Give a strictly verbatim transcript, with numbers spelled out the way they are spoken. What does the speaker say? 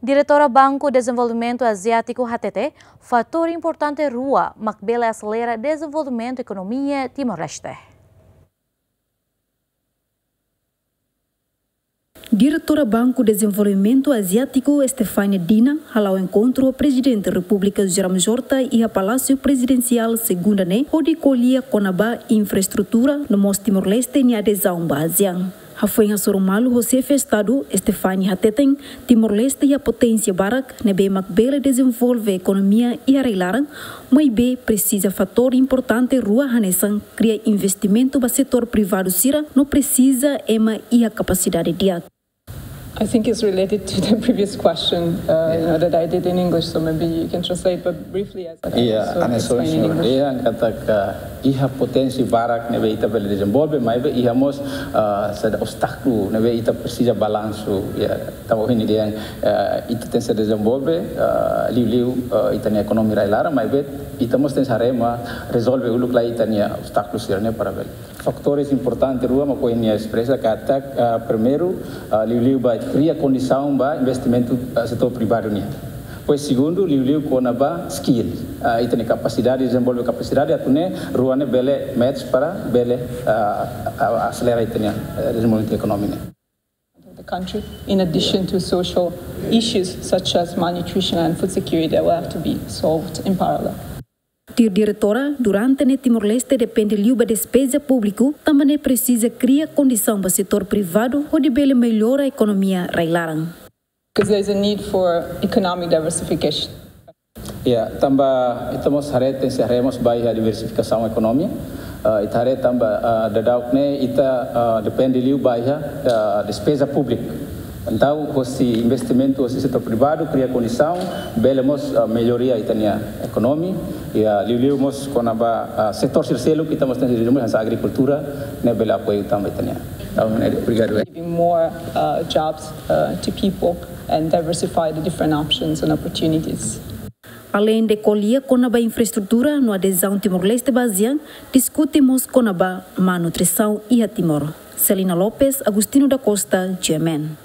Diretora Banku Dezenvolvimentu Aziátiku hatete, fatór importante rua mak bele aselera dezenvolvimentu ekonomia Timor-Leste. Diretora Banku Dezenvolvimentu Aziátiku, Stefania Dina, hala'o enkontru ho Prezidente Repúblika José Ramos Horta iha Palásiu Prezidensiál Segunda ne'e, hodi ko'alia kona-ba infraestrutura no mós Timor-Leste nia adezaun ba ASEAN. Hafoin hasoru malu ho Xefe Estadu, Stefania hateten, Timor-Leste iha poténsia barak ne'ebé mak bele dezenvolve ekonomia iha rai-laran, maibé presiza fatór importante rua hanesan kria investimentu ba setór privadu sira no presiza ema iha kapasidade di'ak. I think it's related to the previous question, uh, you know, that I did in English, so maybe you can translate, but briefly as I Iya, was, uh, hanesan explaining in English. Iya, katak iha poténsia barak ne'ebé ita bele dezenvolve, maibé iha mós, uh, saida obstákulu ne'ebé ita presiza balansu, ya, tanba ohin dehan, uh, ita tenke dezenvolve, uh, liuliu, uh, ita-nia ekonomia rai-laran, maibé ita mós tenke haree mak rezolve uluk lai ita-nia obstákulu sira-ne'e para bele. Fatór importante rua mak ohin nia espresa katak, ah, primeiru, ah, liuliu ba kria kondisaun ba investimentu, ah, setór privadu nian. Depois segundu, liuliu kona-ba skill, ah, ita-nia kapasidade, dezenvolve kapasidade atu nune'e rua ne'e bele match para bele, ah, ah, aselera ita-nia, eh, dezenvolvimentu ekonomia nian. The country, in addition to social issues such as malnutrition and food security that will have to be solved in parallel. Tuir diretora, durante ne'e Timor-Leste depende liu ba despeza públiku, tanba ne'e presiza kria kondisaun ba setór privadu hodi bele mellora ekonomia rai-laran. Because there is a need for economic diversification. Ya, tanba ita mós haree, tenke haree mós ba iha diversifikasaun ekonomia. Ah, ita haree tanba, ah, daudauk ne'e ita, ah, depende liu ba iha, ah, despeza públika. Entaun, hosi investimentu hosi setór privadu, kria kondisaun, bele mós, ah, melloria ita-nia ekonomia, ya, liuliu mós kona-ba, ah, setór sira seluk, ita mós tenke hanesan agrikultura, ne'e bele apoiu tanba ita-nia. Entaun, eh, obrigadu. Giving more, uh, jobs, uh, to people and diversify the different options and opportunities. Aleinde ko'alia kona-ba infraestrutura no adezaun Timor-Leste ba ASEAN, diskute mós kona-ba malnutrisaun iha Timor. Celina Lopes, Agostinho da Costa, G M N.